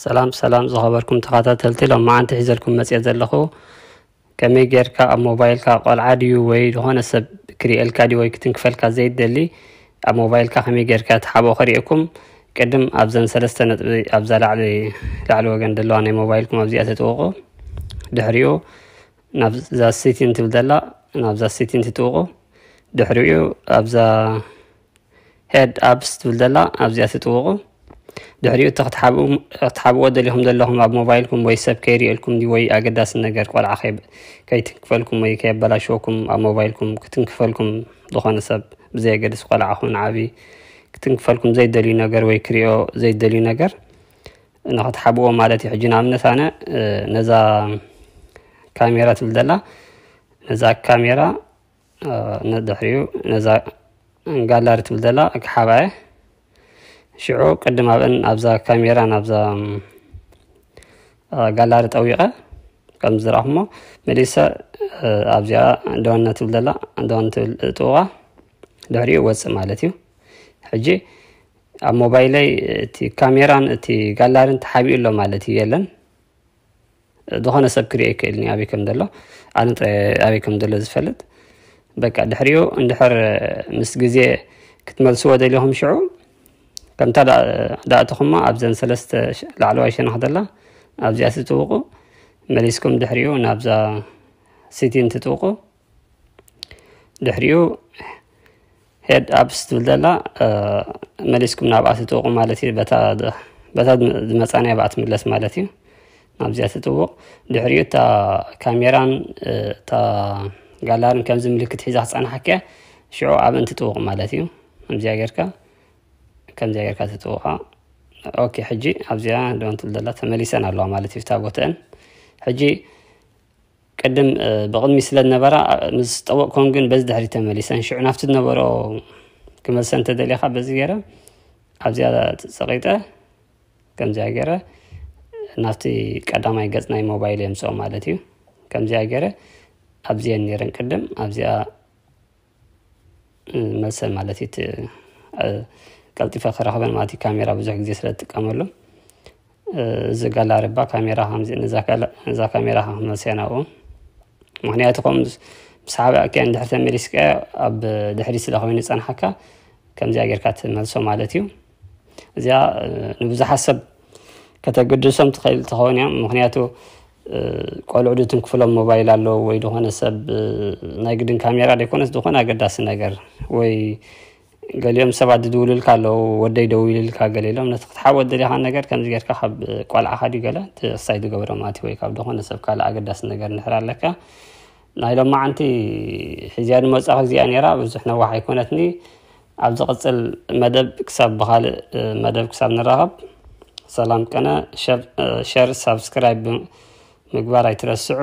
ሰላም ሰላም ዝኸበርኩም ተኸታተልቲ፣ ሎማዓንቲ ሒዘልኩም መፅየ ዘለኹ ከመይ ጌርካ ኣብ ሞባይልካ ቆልዓ ድዩ ወይ ዝኾነ ሰብ ክሪኤልካ ድዩ ወይ ክትንክፈልካ ዘይደሊ ኣብ ሞባይልካ ከመይ ጌርካ ትሓብኦ ከሪእኩም። ቅድም ኣብዘን ሰለስተ ነጥቢ ኣብዛ ላዕሊ ላዕሊ ወገን ዘለዋ ናይ ሞባይልኩም ኣብዚኣ ትጥውቁ። ድሕሪኡ ናብዛ ሴቲን ትብል ዘላ ናብዛ ሴቲን ትጥውቁ። ድሕሪኡ ኣብዛ ሄድ ኣፕስ ትብል ዘላ ኣብዚኣ ትጥውቁ። ድሕሪኡ እቲ ክትሓብኡ- ክትሓብዎ ደሊኹም ዘለኹም ኣብ ሞባይልኩም ወይ ሰብ ከይሪኤልኩም ድዩ ወይ ኣገዳሲ ነገር ቆልዓ ከይ- ከይትንክፈልኩም ወይ ከየበላሽወኩም ኣብ ሞባይልኩም ክትንክፈልኩም ዝኾነ ሰብ ብዘየገድስ ቆልዓ ኹን ዓቢ ክትንክፈልኩም ዘይደልዩ ነገር ወይ ክሪኦ ዘይደልዩ ነገር ንክትሓብዎ ማለት እዩ። ሕጂ ንኣብነት ኣነ ነዛ ካሜራ ትብል ዘላ ነዛ ካሜራ ንድሕሪኡ ነዛ ጋላሪ ትብል ዘላ ክሓባየ ሽዑ ቅድም ኣብን ኣብዛ ካሜራ ናብዛ ጋላሪ ጠዊቐ ከም ዝረኣኹሞ መሊሰ ኣብዚኣ ዶነ ትብል ዘላ ዶን ትብል ጥውቓ ድሕሪኡ ወፅእ ማለት እዩ። ሕጂ ኣብ ሞባይለይ እቲ ካሜራን እቲ ጋላሪን ተሓቢኡ ኣሎ ማለት እዩ። የለን ዝኾነ ሰብ ክሪኦ ይክእል ኒ ኣበይ ከም ዘሎ ኣነ ጥራይ ኣበይ ከም ዘሎ ዝፈልጥ። በቃ ድሕሪኡ እንድሕር ምስ ግዜ ክትመልስዎ ደሊኹም ሽዑ ከምታ ዳእትኹማ ኣብዘን ሰለስተ ላዕለዋይ ሸነኽ ዘላ ኣብዚኣ ትጥውቁ። መሊስኩም ድሕሪኡ ናብዛ ሲቲን ትጥውቁ። ድሕሪኡ ሄድ ኣፕስ ትብል ዘላ መሊስኩም ናብኣ ትጥውቁ ማለት እዩ። በታ ዝመፃናያ ብኣ ትምለስ ማለት እዩ። ናብዚኣ ትጥውቕ። ድሕሪኡ እታ ካሜራን እታ ጋላርን ከምዚ ምልክት ሒዛ ክፀናሓኪያ ሽዑ ኣብን ትጥውቕ ማለት እዩ። ከምዚኣ ጌርካ ከምዚኣ ጌርካ ትጥውቓ። ኦኬ ሕጂ ኣብዚኣ ዶን ትብል ዘላ ተመሊሰን ኣለዋ ማለት እዩ። እታ ቦተአን ሕጂ ቅድም ብቕድሚ ስለ ዝነበራ ምስ ጠወቕኮን ግን በዚ ድሕሪ ተመሊሰን ሽዑ ናብቲ ዝነበሮ ክመልሰን እንተደሊኻ በዚ ገይረ ኣብዚኣ ፀቂጠ ከምዚኣ ገይረ ናብቲ ቀዳማይ ገፅ ናይ ሞባይል የምፅኦ ማለት እዩ። ከምዚኣ ገይረ ኣብዚአን ነይረን ቅድም ኣብዚኣ መልሰን ማለት እዩ። ቀልጢፈ ክረኽበን ማለት እዩ። ካሜራ ብዙሕ ግዜ ስለ ዝጥቀመሉ እዚ ጋላሪ እባ ካሜራ ነዛ ካሜራ ክመልሰያ ናብኡ ምክንያቱ ከም ምስ ሓበእከ እንድሕር ተመሊስከ ኣብ ድሕሪ ስለ ኮይኑ ዝፀንሓካ ከምዚኣ ጌርካ ትመልሶ ማለት እዩ። እዚኣ ንብዙሓት ሰብ ከተገድሶም ትኽእል ትኸውን እያ። ምክንያቱ ቆልዑ ድትንክፍሎም ሞባይል ኣለዉ ወይ ዝኾነ ሰብ ናይ ግድን ካሜራ ዘይኮነስ ዝኾነ ኣገዳሲ ነገር ወይ ገሊኦም ሰባት ዝድውልልካ ኣለዉ ወደይ ደዊልልካ ገለ ኢሎም ነቲ ክትሓወት ደሊኻ ነገር ከምዚ ጌርካ ካብ ቆልዓኻ ድዩ ገለ ክሳይ ዝገብሮ ማለት ወይ ካብ ዝኾነ ሰብ ካልእ ኣገዳሲ ነገር እንድሕር ኣለካ ናይ ሎማዓንቲ ሒዝያ ዝመጻኹ እዚኣ ነይራ ብዙሕ ነዋሕ ኣይኮነትኒ። ኣብ ዝቕጽል መደብ ክሳብ ብኻልእ መደብ ክሳብ ንራኸብ ሰላም ቀነ። ሸር ሳብስክራይብ ምግባር ኣይትረስዑ።